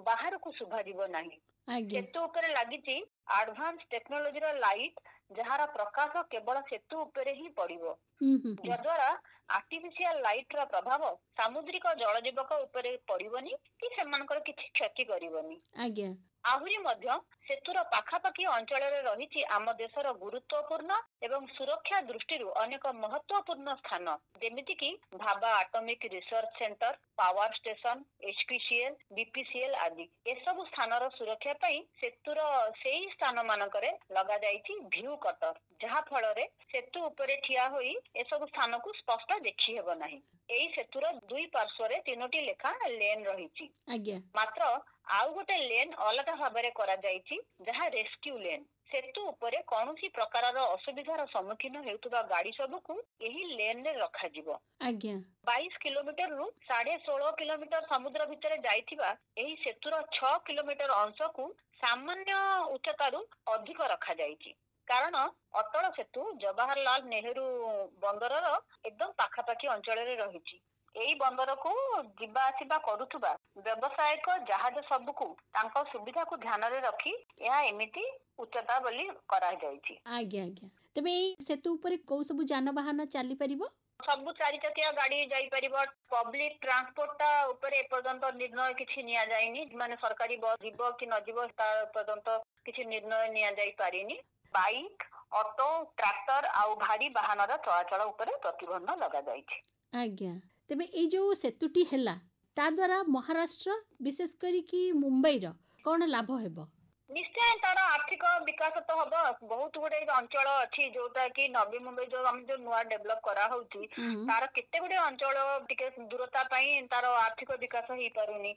ବାହାରକୁ ଶୁଭାଯିବ ନାହିଁ।
ଆଜ୍ଞା
ସେତୁ ଉପରେ ଲାଗିଛି ଆଡଭାନ୍ସ ଟେକ୍ନୋଲୋଜିର ଲାଇଟ୍, ଯାହାର ପ୍ରକାଶ କେବଳ ସେତୁ ଉପରେ ହିଁ ପଡିବ,
ହୁଁ ହୁଁ ହୁଁ
ଯଦ୍ୱାରା ଆର୍ଟିଫିସିଆଲ ଲାଇଟ ର ପ୍ରଭାବ ସାମୁଦ୍ରିକ ଜଳଜୀବକ ଉପରେ ପଡିବନି କି ସେମାନଙ୍କର କିଛି କ୍ଷତି କରିବନି।
ଆଜ୍ଞା
ଆହୁରି ମଧ୍ୟ ସେତୁର ପାଖାପାଖି ଅଞ୍ଚଳରେ ରହିଛି ଆମ ଦେଶର ଗୁରୁତ୍ୱପୂର୍ଣ୍ଣ ଏବଂ ସୁରକ୍ଷା ଦୃଷ୍ଟିରୁ ଅନେକ ମହତ୍ୱପୂର୍ଣ୍ଣ ସ୍ଥାନ, ଯେମିତିକି Bhabha atomic research centre, power station, HPCL, BPCL ଆଦି। ଏସବୁ ସ୍ଥାନର ସୁରକ୍ଷା ପାଇଁ ସେତୁର ସେଇ ସ୍ଥାନ ମାନଙ୍କରେ ଲଗାଯାଇଛି ଭ୍ୟୁ କଟର, ଯାହା ଫଳରେ ସେତୁ ଉପରେ ଠିଆ ହୋଇ ଏସବୁ ସ୍ଥାନକୁ ସ୍ପଷ୍ଟ ଦେଖି ହେବ ନାହିଁ। ଏଇ ସେତୁର ଦୁଇ ପାର୍ଶ୍ୱରେ ତିନୋଟି ଲେଖା ଲେନ୍ ରହିଛି।
ଆଜ୍ଞା
ମାତ୍ର ଆଉ ଗୋଟେ ଲେନ୍ ଅଲଗା ଭାବରେ କରାଯାଇଛି, ଯାହା ରେସ୍କ୍ୟୁ ଲେନ୍। ସେତୁ ଉପରେ କୌଣସି ପ୍ରକାରର ଅସୁବିଧାର ସମ୍ମୁଖୀନ ହେଉଥିବା ଗାଡି ସବୁକୁ ଏହି ଲେନରେ ରଖାଯିବ।
ଆଜ୍ଞା
ବାଇଶ କିଲୋମିଟରରୁ ସାଢେ ଷୋହଳ କିଲୋମିଟର ସମୁଦ୍ର ଭିତରେ ଯାଇଥିବା ଏହି ସେତୁର ଛଅ କିଲୋମିଟର ଅଂଶକୁ ସାମାନ୍ୟ ଉଚ୍ଚତାରୁ ଅଧିକ ରଖାଯାଇଛି, କାରଣ ଅଟଳ ସେତୁ ଜବାହରଲାଲ ନେହେରୁ ବନ୍ଦରର ଏକଦମ ପାଖାପାଖି ଅଞ୍ଚଳରେ ରହିଛି। ଏଇ ବନ୍ଦରକୁ ଯିବା ଆସିବା କରୁଥିବା ବ୍ୟବସାୟିକ ଜାହାଜ ସବୁକୁ ତାଙ୍କ ସୁବିଧାକୁ ଧ୍ୟାନରେ ରଖି ଏହା ଏମିତି ଉଚ୍ଚତା ବୋଲି କରାଯାଇଛି।
ଆଜ୍ଞା ଆଜ୍ଞା ତେବେ ଏଇ ସେତୁ ଉପରେ କୋଉ ସବୁ ଯାନବାହନ ଚାଲିପାରିବ?
ସବୁ ଚାରି ଚକିଆ ଗାଡି ଯାଇପାରିବ। ପବ୍ଲିକ ଟ୍ରାନ୍ସପୋର୍ଟ ଟା ଉପରେ ଏପର୍ଯ୍ୟନ୍ତ ନିର୍ଣ୍ଣୟ କିଛି ନିଆଯାଇନି, ମାନେ ସରକାରୀ ବସ୍ ଯିବ କି ନ ଯିବ ତା ଏପର୍ଯ୍ୟନ୍ତ କିଛି ନିର୍ଣ୍ଣୟ ନିଆଯାଇ ପାରିନି। ବାଇକ୍, ଅଟୋ, ଟ୍ରାକ୍ଟର ଆଉ ଭାରୀ ବାହନର ଚଳାଚଳ ଉପରେ ପ୍ରତିବନ୍ଧ ଲଗାଯାଇଛି।
ଆଜ୍ଞା, ତେବେ ଏଇ ଯୋଉ ସେତୁଟି ହେଲା ତା ଦ୍ୱାରା ମହାରାଷ୍ଟ୍ର, ବିଶେଷ କରିକି ମୁମ୍ବାଇର କ'ଣ ଲାଭ ହେବ?
ନିଶ୍ଚୟ ତାର ଆର୍ଥିକ ବିକାଶ ତ ହବ। ବହୁତ ଗୁଡେ ଅଞ୍ଚଳ ଅଛି ଯୋଉଟା କି ନବୀ ମୁମ୍ବାଇ ଯୋଉ ଆମେ ଯୋଉ ନୂଆ ଡେଭଲପ କରାହଉଛି, ତାର କେତେ ଗୁଡେ ଅଞ୍ଚଳ ଟିକେ ଦୂରତା ପାଇଁ ତାର ଆର୍ଥିକ ବିକାଶ ହେଇପାରୁନି।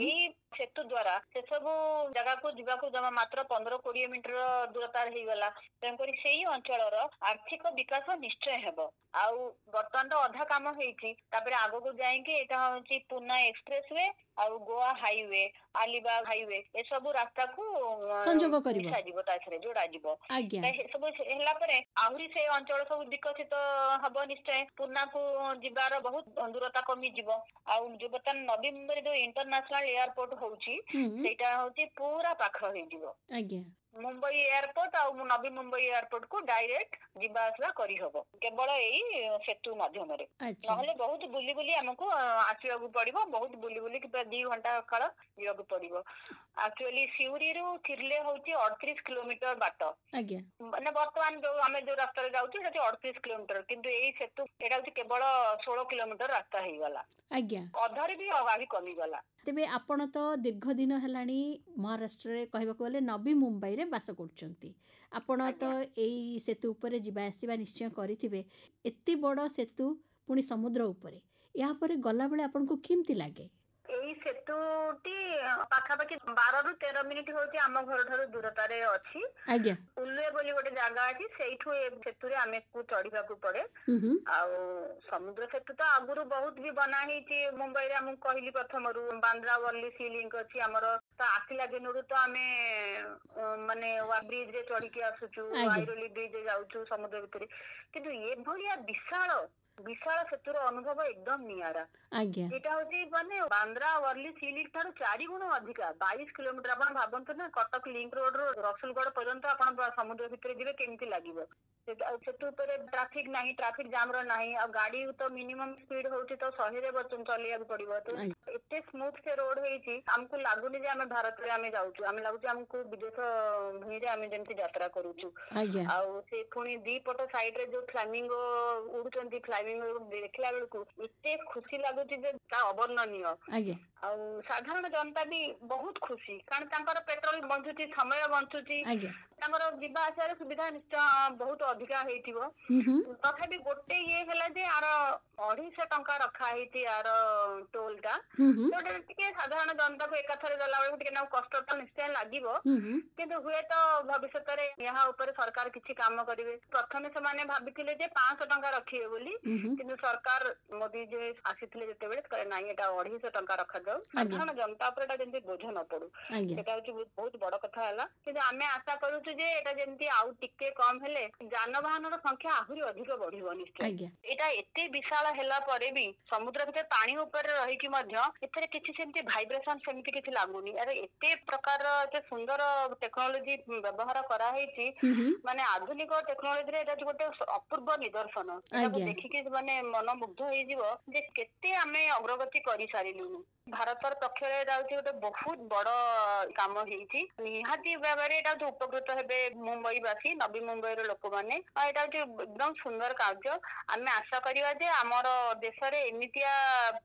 ଏଇ ସେତୁ ଦ୍ଵାରା ସେସବୁ ଜାଗାକୁ ଯିବାକୁ ଜମା ମାତ୍ର ପନ୍ଦର କୋଡିଏ ମିନିଟର ଦୂରତା ହେଇଗଲା। ତେଣୁକରି ସେଇ ଅଞ୍ଚଳର ଆର୍ଥିକ ବିକାଶ ନିଶ୍ଚୟ ହେବ। ଆଉ ବର୍ତ୍ତମାନ ତ ଅଧା କାମ ହେଇଛି, ତାପରେ ଆଗକୁ ଯାଇକି ଏଇଟା ହଉଛି ପୁନା ଏକ୍ସପ୍ରେସ we ଆଉ ଗୋଆ ହାଇୱେ, ଆଲିବାଗ ହାଇୱେ, ଏସବୁ ରାସ୍ତାକୁ
ସଂଯୋଗ କରିବ,
ମିଶାଯିବ, ତା ଦେହରେ ଯୋଡାଯିବ। ସବୁ ହେଲା ପରେ ଆହୁରି ସେ ଅଞ୍ଚଳ ସବୁ ବିକଶିତ ହବ ନିଶ୍ଚୟ। ପୁନାକୁ ଯିବାର ବହୁତ ଦୂରତା କମିଯିବ। ଆଉ ଯୋଉ ବର୍ତ୍ତମାନ ନବୀ ମୁମ୍ବାଇରେ ଯୋଉ ଇଣ୍ଟରନ୍ୟାସନାଲ ଏୟାରପୋର୍ଟ ହଉଛି, ସେଇଟା ହଉଛି ପୁରା ପାଖ ହେଇଯିବ।
ଆଜ୍ଞା
ମୁମ୍ବାଇ ଏୟାରପୋର୍ଟ ଆଉ ନବୀ ମୁମ୍ବାଇ ଏୟାରପୋର୍ଟ କୁ ଡାଇରେକ୍ଟ ଯିବା ଆସିବା କରିହବ କେବଳ ଏଇ ସେତୁ ମାଧ୍ୟମରେ। ନହେଲେ ବହୁତ ବୁଲି ବୁଲି ଆମକୁ ଆସିବାକୁ ପଡିବ, ବହୁତ ବୁଲି ବୁଲି ଦି ଘଣ୍ଟା କାଳ ଯିବାକୁ ପଡିବ। ଆକ୍ଚୁଆଲି ସିଉରିରୁ ଥିର୍ଲେ ହଉଛି ଅଠତିରିଶ କିଲୋମିଟର ବାଟ। ମାନେ ବର୍ତ୍ତମାନ ଯୋଉ ଆମେ ଯୋଉ ରାସ୍ତାରେ ଯାଉଛୁ ସେଠି ଅଠତିରିଶ କିଲୋମିଟର, କିନ୍ତୁ ଏଇ ସେତୁ ଏଇଟା ହଉଛି କେବଳ ଷୋହଳ କିଲୋମିଟର ରାସ୍ତା ହେଇଗଲା।
ଆଜ୍ଞା
ଅଧାରେ ବି ଆହୁରି କମିଗଲା।
ତେବେ ଆପଣ ତ ଦୀର୍ଘ ଦିନ ହେଲାଣି ମହାରାଷ୍ଟ୍ରରେ, କହିବାକୁ ଗଲେ ନବୀ ମୁମ୍ବାଇରେ ବାସ କରୁଛନ୍ତି। ଆପଣ ତ ଏଇ ସେତୁ ଉପରେ ଯିବା ଆସିବା ନିଶ୍ଚୟ କରିଥିବେ। ଏତେ ବଡ଼ ସେତୁ ପୁଣି ସମୁଦ୍ର ଉପରେ, ଏହା ପରେ ଗଲାବେଳେ ଆପଣଙ୍କୁ କେମିତି ଲାଗେ?
ଏଇ ସେତୁଟି ପାଖାପାଖି ବାରରୁ ତେର ମିନିଟ ହଉଛି ଆମ ଘରଠାରୁ ଦୂରତାରେ ଅଛି।
ଆଜ୍ଞା
ଉଲୁଏ ବୋଲି ଗୋଟେ ଜାଗା ଅଛି, ସେଇଠୁ ଏ ସେତୁରେ ଆମକୁ ଚଢିବାକୁ ପଡେ। ଆଉ ସମୁଦ୍ର ସେତୁ ତ ଆଗରୁ ବହୁତ ବି ବନା ହେଇଛି ମୁମ୍ବାଇରେ। ଆମକୁ କହିଲି ପ୍ରଥମରୁ ବାନ୍ଦ୍ରା ୱାର୍ଲି ସି ଲିଙ୍କ ଅଛି ଆମର, ତ ଆସିଲା ଦିନରୁ ତ ଆମେ ମାନେ ବ୍ରିଜ ରେ ଚଢିକି ଆସୁଛୁ, ଆଇରୋଲି ବ୍ରିଜ ଯାଉଛୁ ସମୁଦ୍ର ଭିତରେ। କିନ୍ତୁ ଏଭଳିଆ ବିଶାଳ ବିଶାଳ ସେତୁର ଅନୁଭବ ଏକଦମ ନିଆରା। ଏଇଟା ହଉଛି ମାନେ ବାନ୍ଦ୍ରା ୱାର୍ଲି ସି ଲିଙ୍କ ଠାରୁ ଚାରି ଗୁଣ ଅଧିକା, ବାଇଶ କିଲୋମିଟର। ଆପଣ ଭାବନ୍ତୁ ନା, କଟକ ଲିଙ୍କ ରୋଡ ରୁ ରସୁଲଗଡ ପର୍ଯ୍ୟନ୍ତ ଆପଣ ସମୁଦ୍ର ଭିତରେ ଯିବେ କେମିତି ଲାଗିବ। ସେତୁ ଉପରେ ଟ୍ରାଫିକ ନାହିଁ, ଟ୍ରାଫିକ ଜାମ ର ନାହିଁ, ଆଉ ଗାଡି ତ ମିନିମମ୍ ସ୍ପିଡ ହଉଛି ତ ଶହେରେ ଚଲେଇବାକୁ ପଡିବ। ତ ଏତେ ସ୍ମୁଥ ସେ ରୋଡ ହେଇଛି, ଆମକୁ ଲାଗୁନି ଯେ ଆମେ ଭାରତରେ ଆମେ ଯାଉଛୁ, ଆମେ ଲାଗୁଛି ଆମକୁ ବିଦେଶ ଭୂଇଁରେ ଆମେ ଯେମିତି ଯାତ୍ରା କରୁଛୁ। ଆଉ ସେ ପୁଣି ଦି ପଟ ସାଇଡ ରେ ଯୋଉ ଫ୍ଲାମିଙ୍ଗୋ ଉଡୁଛନ୍ତି, ଫ୍ଲାମିଙ୍ଗୋ ଦେଖିଲା ବେଳକୁ ଏତେ ଖୁସି ଲାଗୁଛି ଯେ ତା ଅବର୍ଣ୍ଣନୀୟ। ଆଉ ସାଧାରଣ ଜନତା ବି ବହୁତ ଖୁସି, କାରଣ ତାଙ୍କର ପେଟ୍ରୋଲ ବଞ୍ଚୁଛି, ସମୟ ବଞ୍ଚୁଛି, ତାଙ୍କର ଯିବା ଆସିବାର ସୁବିଧା ନିଶ୍ଚୟ ବହୁତ ଅଧିକା ହେଇଥିବ। ତଥାପି ଗୋଟେ ଇଏ ହେଲା ଯେ ଆର ଅଢେଇଶହ ଟଙ୍କା ରଖା ହେଇଛି ଆର ଟୋଲ ଟା, ଯୋଉଟା ଟିକେ ସାଧାରଣ ଜନତାକୁ ଏକାଥରେ ଗଲା ବେଳକୁ ଟିକେ ନାକୁ କଷ୍ଟ ତ ନିଶ୍ଚୟ ଲାଗିବ। କିନ୍ତୁ ହୁଏତ ଭବିଷ୍ୟତରେ ଏହା ଉପରେ ସରକାର କିଛି କାମ କରିବେ। ପ୍ରଥମେ ସେମାନେ ଭାବିଥିଲେ ଯେ ପାଞ୍ଚଶହ ଟଙ୍କା ରଖିବେ ବୋଲି, କିନ୍ତୁ ସରକାର ମୋଦି ଯେ ଆସିଥିଲେ ଯେତେବେଳେ କହିଲେ ନାଇଁ ଏଟା ଅଢେଇଶହ ଟଙ୍କା ରଖାଯାଉ, ସାଧାରଣ ଜନତା ଉପରେ ଏଟା ଯେମିତି ବୋଝ ନ ପଡୁ। ସେଟା ହଉଛି ବହୁତ ବଡ କଥା ହେଲା। କିନ୍ତୁ ଆମେ ଆଶା କରୁଛୁ ଯେ ଏଟା ଯେମିତି ଆଉ ଟିକେ କମ ହେଲେ ଯାନବାହନର ସଂଖ୍ୟା ଆହୁରି ଅଧିକ ବଢିବ ନିଶ୍ଚୟ। ଏଇଟା ଏତେ ବିଶାଳ ହେଲା ପରେ ବି ସମୁଦ୍ର ଭିତରେ ପାଣି ଉପରେ ରହିକି ମଧ୍ୟ ଏଥିରେ କିଛି ସେମିତି ଭାଇବ୍ରେସନ ସେମିତି କିଛି ଲାଗୁନି। ଆରେ ଏତେ ପ୍ରକାରର ଏତେ ସୁନ୍ଦର ଟେକ୍ନୋଲୋଜି ବ୍ୟବହାର କରାହେଇଛି, ମାନେ ଆଧୁନିକ ଟେକ୍ନୋଲୋଜିରେ ଏଇଟା ଗୋଟେ ଅପୂର୍ବ ନିଦର୍ଶନ। ଏଟାକୁ ଦେଖିକି ମାନେ ମନ ମୁଗ୍ଧ ହେଇଯିବ ଯେ କେତେ ଆମେ ଅଗ୍ରଗତି କରିସାରିଲୁଣି। ଭାରତର ପକ୍ଷରେ ଏଇଟା ହଉଛି ଗୋଟେ ବହୁତ ବଡ କାମ ହେଇଛି। ନିହାତି ଭାବରେ ଏଇଟା ହଉଛି ଉପକୃତ ହେବେ ମୁମ୍ବାଇ ବାସୀ, ନବୀ ମୁମ୍ବାଇର ଲୋକମାନେ। ଆଉ ଏଇଟା ହଉଛି ଏକଦମ ସୁନ୍ଦର କାର୍ଯ୍ୟ। ଆମେ ଆଶା କରିବା ଯେ ଆମର ଦେଶରେ ଏମିତିଆ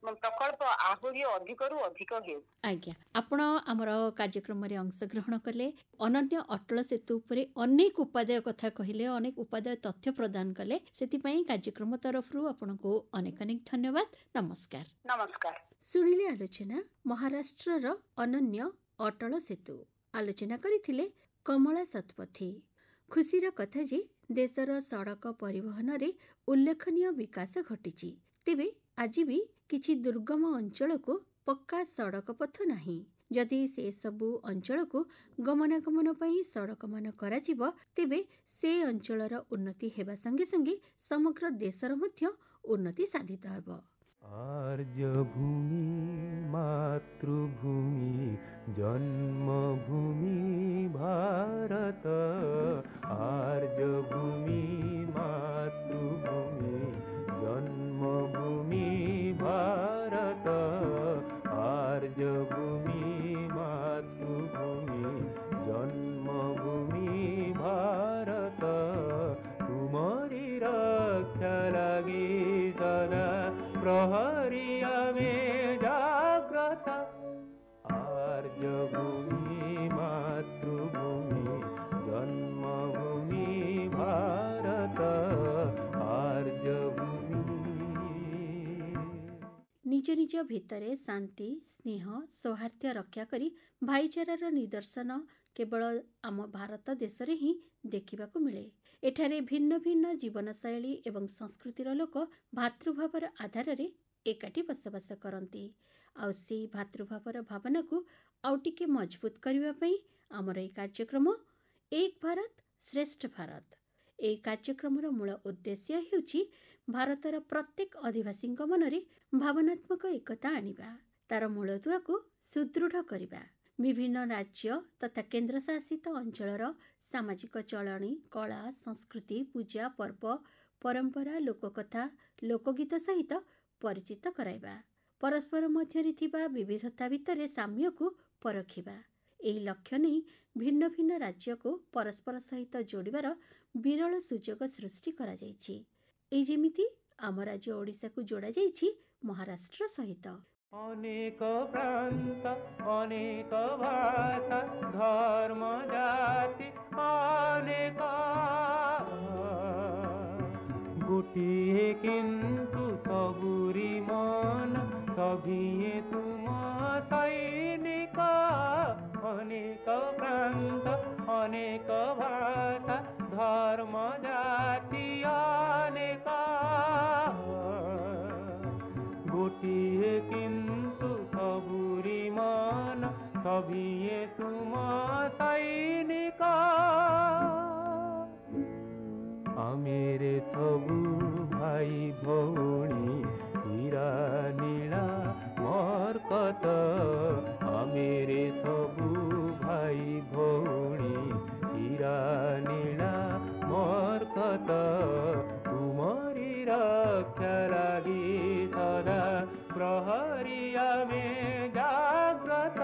ପ୍ରକଳ୍ପ ଆହୁରି ଅଧିକରୁ ଅଧିକ ହେଉ।
ଆଜ୍ଞା, ଆପଣ ଆମର କାର୍ଯ୍ୟକ୍ରମରେ ଅଂଶଗ୍ରହଣ କଲେ, ଅନନ୍ୟ ଅଟଳ ସେତୁ ଉପରେ ଅନେକ ଉପାଦେୟ କଥା କହିଲେ, ଅନେକ ଉପାଦେୟ ତଥ୍ୟ ପ୍ରଦାନ କଲେ, ସେଥିପାଇଁ କାର୍ଯ୍ୟକ୍ରମ ତରଫରୁ ଆପଣଙ୍କୁ ଅନେକ ଅନେକ ଧନ୍ୟବାଦ। ନମସ୍କାର।
ନମସ୍କାର।
ଶୁଣିଲେ ଆଲୋଚନା ମହାରାଷ୍ଟ୍ରର ଅନନ୍ୟ ଅଟଳ ସେତୁ। ଆଲୋଚନା କରିଥିଲେ କମଳା ଶତପଥୀ। ଖୁସିର କଥା ଯେ ଦେଶର ସଡ଼କ ପରିବହନରେ ଉଲ୍ଲେଖନୀୟ ବିକାଶ ଘଟିଛି। ତେବେ ଆଜି ବି କିଛି ଦୁର୍ଗମ ଅଞ୍ଚଳକୁ ପକ୍କା ସଡ଼କ ପଥ ନାହିଁ। ଯଦି ସେସବୁ ଅଞ୍ଚଳକୁ ଗମନାଗମନ ପାଇଁ ସଡ଼କମାନ କରାଯିବ, ତେବେ ସେ ଅଞ୍ଚଳର ଉନ୍ନତି ହେବା ସଙ୍ଗେ ସଙ୍ଗେ ସମଗ୍ର ଦେଶର ମଧ୍ୟ ଉନ୍ନତି ସାଧିତ ହେବ।
ଆର୍ଯ୍ୟଭୂମି ମାତୃଭୂମି ଜନ୍ମଭୂମି ଭାରତ, ଆର୍ଯ୍ୟଭୂମି ମାତୃଭୂମି ଜନ୍ମଭୂମି ଭାରତ, ଆର୍ଯ୍ୟଭୂମି ମାତୃଭୂମି ଜନ୍ମଭୂମି ଭାରତ।
ନିଜ ନିଜ ଭିତରେ ଶାନ୍ତି, ସ୍ନେହ, ସୌହାର୍ଦ୍ଦ୍ୟ ରକ୍ଷା କରି ଭାଇଚାରାର ନିଦର୍ଶନ କେବଳ ଆମ ଭାରତ ଦେଶରେ ହିଁ ଦେଖିବାକୁ ମିଳେ। ଏଠାରେ ଭିନ୍ନ ଭିନ୍ନ ଜୀବନଶୈଳୀ ଏବଂ ସଂସ୍କୃତିର ଲୋକ ଭାତୃଭାବର ଆଧାରରେ ଏକାଠି ବସବାସ କରନ୍ତି। ଆଉ ସେଇ ଭାତୃଭାବର ଭାବନାକୁ ଆଉ ଟିକେ ମଜବୁତ କରିବା ପାଇଁ ଆମର ଏହି କାର୍ଯ୍ୟକ୍ରମ ଏକ ଭାରତ ଶ୍ରେଷ୍ଠ ଭାରତ। ଏହି କାର୍ଯ୍ୟକ୍ରମର ମୂଳ ଉଦ୍ଦେଶ୍ୟ ହେଉଛି ଭାରତର ପ୍ରତ୍ୟେକ ଅଧିବାସୀଙ୍କ ମନରେ ଭାବନାତ୍ମକ ଏକତା ଆଣିବା, ତାର ମୂଳଦୁଆକୁ ସୁଦୃଢ଼ କରିବା। ବିଭିନ୍ନ ରାଜ୍ୟ ତଥା କେନ୍ଦ୍ରଶାସିତ ଅଞ୍ଚଳର ସାମାଜିକ ଚଳଣି, କଳା, ସଂସ୍କୃତି, ପୂଜା ପର୍ବ, ପରମ୍ପରା, ଲୋକକଥା, ଲୋକଗୀତ ସହିତ ପରିଚିତ କରାଇବା, ପରସ୍ପର ମଧ୍ୟରେ ଥିବା ବିବିଧତା ଭିତରେ ସାମ୍ୟକୁ ପରଖିବା। ଏହି ଲକ୍ଷ୍ୟ ନେଇ ଭିନ୍ନ ଭିନ୍ନ ରାଜ୍ୟକୁ ପରସ୍ପର ସହିତ ଯୋଡ଼ିବାର ବିରଳ ସୁଯୋଗ ସୃଷ୍ଟି କରାଯାଇଛି। ଏଇ ଯେମିତି ଆମ ରାଜ୍ୟ ଓଡ଼ିଶାକୁ ଯୋଡ଼ାଯାଇଛି ମହାରାଷ୍ଟ୍ର ସହିତ।
ଅନେକ ପ୍ରାନ୍ତ, ଅନେକ ଭାଷା, ଧର୍ମ ଜାତି ଅନେକ, ଗୋଟିଏ କିନ୍ତୁ ସବୁରି ମନ, ସଭିଏଁ ତୁମ ସୈନିକ। ଅନେକ ପ୍ରାନ୍ତ, ଅନେକ ଭାଷା, ଧର୍ମ ଜାତି ଅନେକ, ଗୋଟିଏ କିନ୍ତୁ ସବୁରି ମନ, ସଭିଏଁ ତୁମ ସୈନିକ। ଆମେରେ ସବୁ ଭାଇ ଭଉଣୀ, ହୀରା ନୀଳା ମରକତ। ଆମେରେ ସବୁ ଭାଇ ଭଉଣୀ, ହୀରା ନୀଳା ମରକତ। ତୁମରି ରକ୍ଷା ଲାଗି ସଦା ପ୍ରହରୀ ଆମେ ଜାଗ୍ରତ।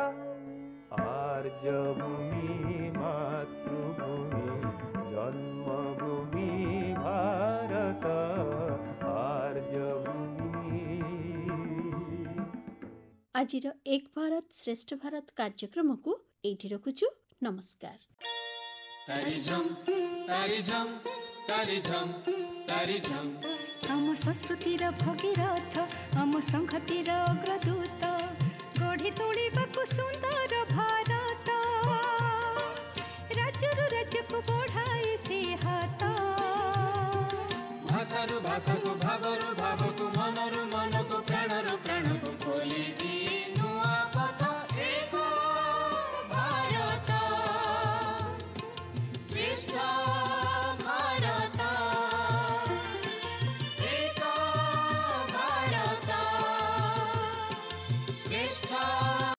ଆର୍ଯ୍ୟଭୂମି ମାତୃଭୂମି ଜନ୍ମଭୂମି ଭାରତ, ଆର୍ଯ୍ୟଭୂମି।
ଆଜିର ଏକ ଭାରତ ଶ୍ରେଷ୍ଠ ଭାରତ କାର୍ଯ୍ୟକ୍ରମକୁ ଏଇଠି ରଖୁଛୁ। ନମସ୍କାର।
ତାରି ଝମ୍ ତାରି ଝମ୍ ତାରି ଝମ୍ ତାରି ଝମ୍।
ଆମ ସଂସ୍କୃତିର ଭଗୀରଥ, ଆମ ସଂହତିର ଅଗ୍ରଦୂତ, ଗଢ଼ି ତୋଳିବାକୁ ସୁନ୍ଦର ଭାରତ। ରାଜ୍ୟରୁ ରାଜ୍ୟକୁ ବଢ଼ାଏ ସେ ହାତ।
ଭାଷାରୁ ଭାଷାକୁ, ଭାବରୁ ଭାବକୁ, ମନରୁ ମନକୁ, ପ୍ରାଣରୁ ପ୍ରାଣକୁ ଖୋଲି ଦିଏ।